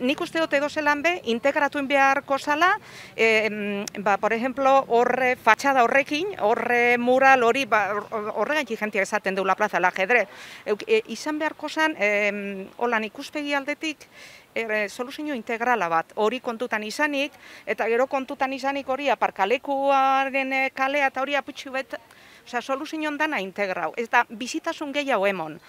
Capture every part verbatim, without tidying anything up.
nik uste dut edo zelan be, integratuin beharko zala, e, ba, por ejemplo, horre fatxada horrekin, horre mural hori, ba, horregatik jentia esaten deula plaza, la ajedrez. E, izan beharko zan, e, holan ikuspegi aldetik, E, soluzio integrala bat, hori kontutan izanik, eta gero kontutan izanik hori aparkalekuaren kalea eta hori aputxu bet, osea, soluzio dana integrau, ez da bizitasun gehiago emon.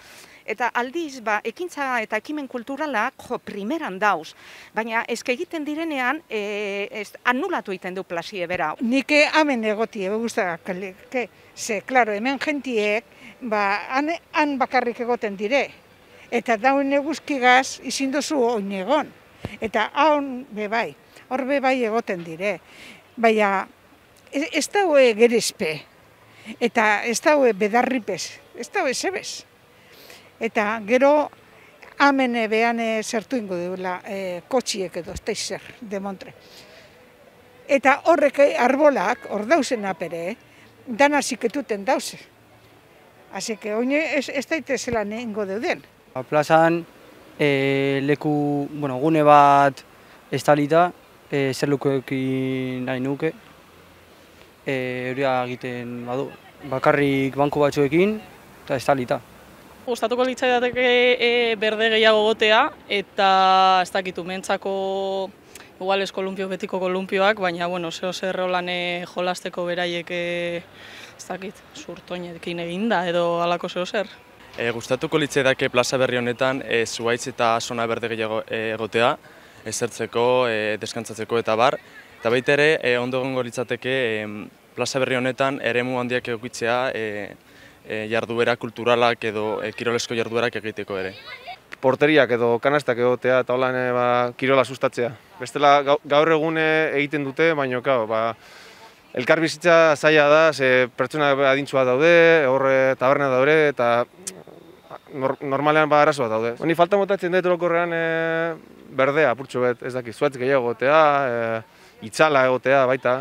Eta aldiz, ba, ekintza eta ekimen kulturalak, jo, primeran dauz, baina ezke egiten direnean, e, ez, anulatu egiten du plazie bera. Nik hemen egoti, ebe guztagak, ze, klaro, hemen jentiek, ba, han, han bakarrik egoten dire. Eta daun eguzkigaz izin duzu oin egon. Eta haun bebai, hor bebai egoten dire. Baina ez daue gerezpe, eta ez daue bedarripez, ez daue zebez. Eta gero hamen behan zertu ingo duela e, kotxiek edo, ez da izer, demontre. Eta horrek arbolak, hor dauzen apere, dana ziketuten dauze. Asi que oin ez, ez daitezela ingo deuden. Plazan e, leku, bueno, gune bat estalita, e, zer lukuekin nahi nuke, e, hori egiten badu, bakarrik banku batzuekin eta estalita. Gustatuko litzaidateke e, berde gehiago gotea eta ez dakit umentzako igual ez kolumpio betiko kolumpioak, baina bueno, zeo zer holan jolasteko beraiek e, ez dakit, zurtoinekin eginda edo halako zeo zer. E, gustatuko litzaidake plaza berri honetan e, zuhaitz eta zona berde gehiago egotea, ezertzeko, e, deskantzatzeko eta bar. Eta baita ere, e, ondo egongo litzateke e, plaza berri honetan eremu handiak egokitzea e, e, jarduera kulturalak edo e, kirolesko jarduerak egiteko ere. Porteriak edo kanastak egotea eta holan e, ba, kirola sustatzea. Bestela gaur egune egiten dute, baina ba, elkar bizitza zaila da, ze pertsona adintzua daude, horre taberna daude eta normalean ba arazo bat daude. Ni falta motatzen dut orokorrean e, berdea, apurtxo bet, ez dakit, zuhaitz gehiago egotea, e, itzala egotea baita.